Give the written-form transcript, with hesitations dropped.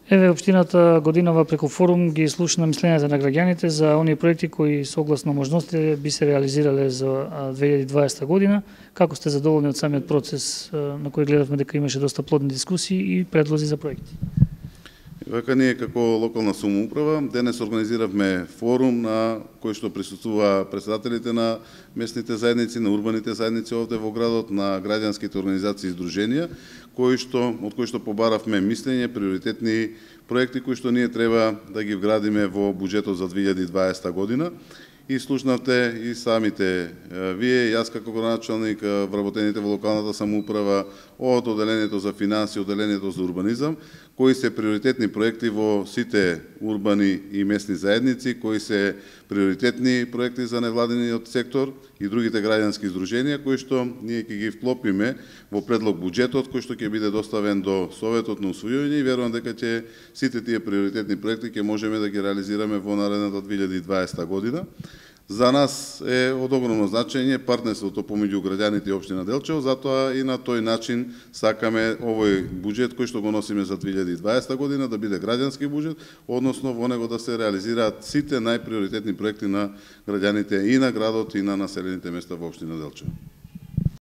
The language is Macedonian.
Еве, општината годинава преку форум ги слушна мислењата на граѓаните за оние проекти кои согласно можностите би се реализирале за 2020 година. Како сте задоволни од самиот процес на кој гледавме дека имаше доста плодни дискусии и предлози за проекти? Вака ние како локална самоуправа денес организиравме форум на кој што присуствува претседателите на местните заедници, на урбаните заедници овде во градот, на граѓанските организации и здруженија, од кои што побаравме мислење, приоритетни проекти кои што ние треба да ги вградиме во буџетот за 2020 година. И слушнавте и самите вие, јас како градоначалник, вработените во локалната самоуправа, од одделението за финанси, одделението за урбанизам, кои се приоритетни проекти во сите урбани и местни заедници, кои се приоритетни проекти за невладиниот сектор и другите граѓански здруженија, кои што ние ќе ги вклопиме во предлог буџетот, кој што ќе биде доставен до Советот на усвојување и верувам дека ќе сите тие приоритетни проекти ќе можеме да ги реализираме во наредната 2020 година. За нас е од огромно значење партнерството помеѓу граѓаните и општина Делчево, затоа и на тој начин сакаме овој буџет кој што го носиме за 2020 година да биде граѓански буџет, односно во него да се реализираат сите најприоритетни проекти на граѓаните и на градот и на населените места во општина Делчево.